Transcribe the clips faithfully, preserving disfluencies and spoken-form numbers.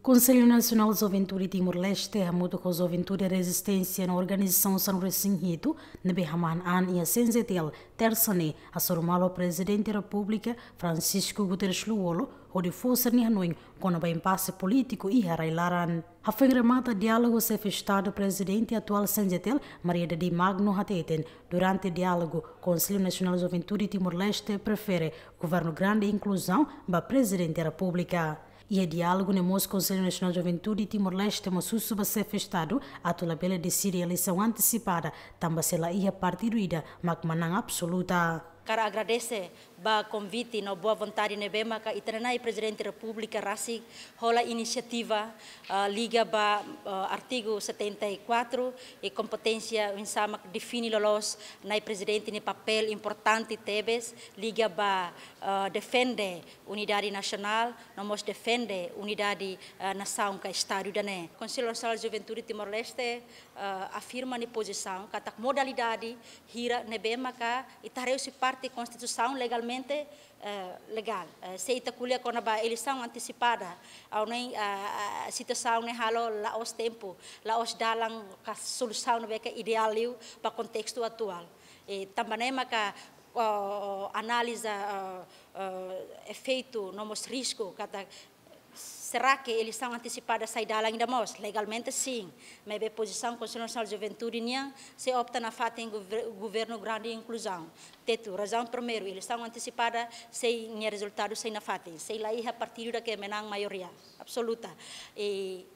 Konsellu Nasionál Juventude Timor-Leste hamutuk ho Juventude Rezisténsia no organizasaun sanulu-resin-hitu ne'ebé hamahán an iha C N J T L, tersa ne'e, hasoru malu Prezidente Repúblika Francisco Guterres Lú-Olo hodi fó sira-nia hanoin kona-ba impase polítiku iha rai-laran. Hafoin remata diálogu, Xefe Estadu Prezidente atuál C N J T L, Maria Dadi Magno, hateten, durante diálogu, Konsellu Nasionál Juventude Timor-Leste prefere Governu Grande Inkluzaun ba Prezidente Repúblika. Iha diálogu ne'e mós, Konsellu Nasionál Juventude Timor-Leste mós husu ba Xefe Estadu atu labele deside eleisaun antesipada, tanba se la iha partidu ida mak manán absoluta. Hakarak agradese ba konvite no boa vontade ne'ebé maka ita-nia Nai Prezidente Repúblika rasik hola inisiativa, ah, liga ba, ah, artigu setenta e quatro, i kompeténsia oinsá mak define loloos Nai Prezidente nia papél importante tebes liga ba, ah, defende unidade nasionál, no mós defende unidade, ah, nasaun ka Estadu ida-ne'e. Konsellu Nasionál Juventude Timor-Leste, ah, afirma nia pozisaun katak modalidade hira ne'ebé maka ita haree husi parte Konstituisaun legalmente, eh, legál. Eh, se ita ko'alia kona-ba eleisaun antesipada, ha'u hanoin, ah, ah, situasaun ne'e halo la'ós tempu, la'ós dalan ka solusaun ne'ebé ke ideál liu ba kontestu atuál. I tanba ne'e maka, oh, analiza, ah, ah, efeitu no mós risku katak será que eleisaun antesipada sai dalan ida mós? Legalmente, sin. Maibé pozisaun Konsellu Nasionál Juventude nian, sei opta nafatin gover-, Governu Grande Inkluzaun. Tetu, razaun primeiru, eleisaun antesipada, sei nia rezultadu sei nafatin. Sei la iha partidu ida ke manán maioria absoluta. I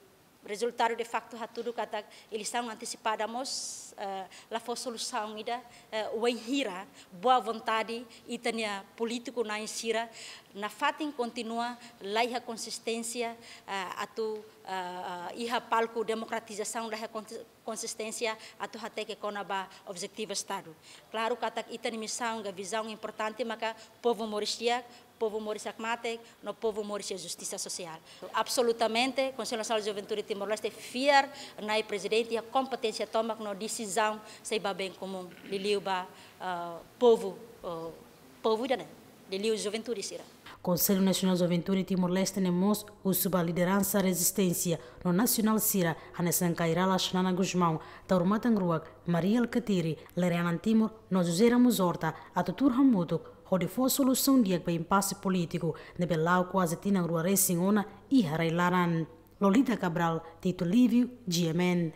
rezultadu de facto hatudu katak eleisaun antesipada mós, eh, la fó solusaun ida, eh, wainhira boa vontade ita-nia polítiku na'in sira nafatin kontinua la iha konsisténsia, eh, atu, eh, eh, iha palku demokratizasaun la iha konsi-, konsisténsia atu hateke kona-ba objetivu Estadu. Klaru katak ita-nia misaun ka vizaun importante maka povu moris di'ak, povu moris hakmatek, no povu moris iha justisa sosiál. Absolutamente, Konsellu Nasionál Juventude Timor-Leste fiar Nai Prezidente iha kompeténsia tomak no desizaun sei ba bem komún, liuliu ba, ah, povu, ah, povu ida-ne'e, liuliu juventude sira. Konsellu Nasionál Juventude Timor-Leste ne'e mós husu ba lideransa rezisténsia no nasionál sira hanesan Kay Rala Xanana Gusmão, Taur Matan Ruak, Mari Alkatiri, Lere Anan Timur, no José Ramos Horta atu tuur hamutuk hodi fó solusaun di'ak ba impase polítiku ne'ebé la'o kuaze tinan rua resin ona iha rai-laran. Lolita Cabral, Tito Livio, G M N.